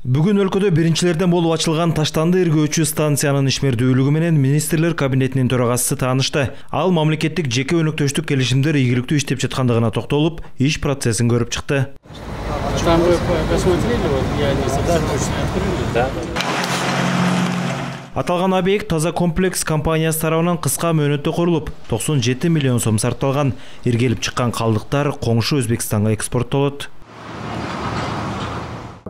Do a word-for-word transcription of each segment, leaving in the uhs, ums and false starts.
Бүгүн өлкөдө биринчилерден болуп ачылган таштанды иргөөчү станциянын ишмердүүлүгү менен министрлер кабинетинин төрагасы таанышты. Ал мамлекеттик жеке өнөктөштүк келишимдер ийгиликтүү иштеп жаткандыгына токтолуп, иш процессин көрүп чыкты. Аталган объект Таза комплекс компаниясы тарабынан кыска мөөнөттө курулуп, токсон жети миллион сом сарпталган. Иргелип чыккан калдыктар коңшу Өзбекстанга экспорттолот.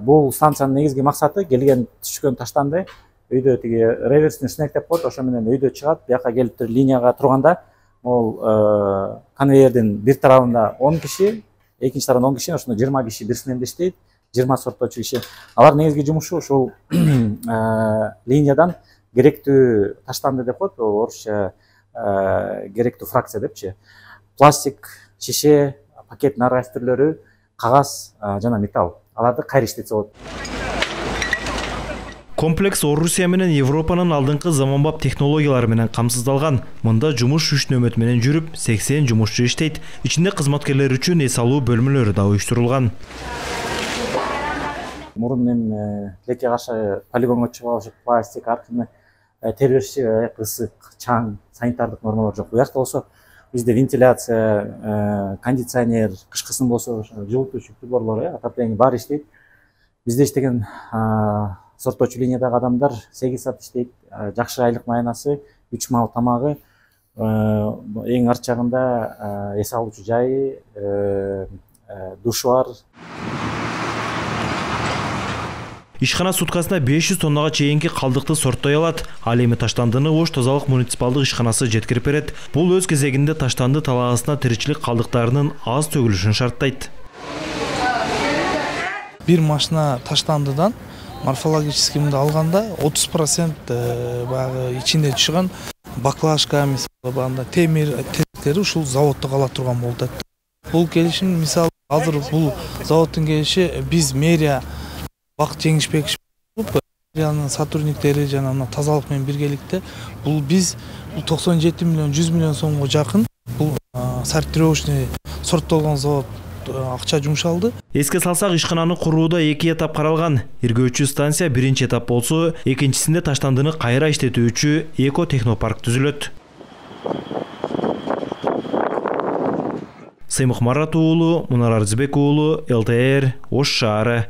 Бул станциянын негизги максаты келген түшкөн таштанды өйдө тиги реверсный снег деп коет, ошо менен өйдө чыгат, бияка келип туруп линияга турганда, ол конвейердин бир тарабында он киши, экинчи тарабында он киши, ошондо жыйырма киши бир сменде иштейт, жыйырма сорттоочу киши. Алар негизги жумушу ушул линиядан керектүү таштанды деп коет, орусча керектүү фракция депчи. Пластик, шише, пакеттин ар кайсы түрлөрү, кагаз жана металл. Аларды кайра иштетсе болот. Комплекс Орусия менен Европанын алдыңкы заманбап технологиялары менен камсыздалган. Мында жумуш үч нөмөт менен жүрүп, сексен жумушчу иштейт. Ичинде кызматкерлер үчүн эс алуу бөлмөлөрү да уюштурулган. Мурун эми тилекке каршы полигонго чыгып ошо пластик, аркыны тербешчи, ысык, чаң, санитардык нормалар жок. Буякта болсо бизде вентиляция, кондиционер, кышкысын болсо жылытуучу приборлор, отопление баары иштейт. Бизде иштеген сорттоочу линиядагы адамдар сегиз саат иштейт, жакшы айлык маянасы, үч маал тамагы, эң арчагында эс алуучу жайы, душу бар. Ишкана суткасына беш жүз тоннага чейинки калдыкты сорттой алат. Ал эми таштандыны Ош тазалык муниципалдык ишканасы жеткирип берет. Бул өз кезегинде таштанды талаасына тиричилик калдыктарынын аз төгүлүшүн шарттайт. Бир машина таштандыдан морфологический мындай алганда отуз процент баягы ичинде чыган баклажка, мисалы банда темир тетиктери ушул заводдо кала турган болду. Бул келишим мисалы азыр бул заводдун келиши биз мэрия Бакыт Жеңишбеков мэриянын сотрудниктери жана мына тазалык менен биргеликте бул биз токсон жети миллион жүз миллион сомго жакын бул сортировочный сорттолгон завод акча жумшалды. Эске салсак, ишкананы курууда эки этап каралган. Иргөөчү станция биринчи этап болсо, экинчисинде таштандыны кайра иштетүүчү эко технопарк түзүлөт. Сыймык Марат уулу, Мунар Арзыбек уулу, эл тэ эр, Ош шаары.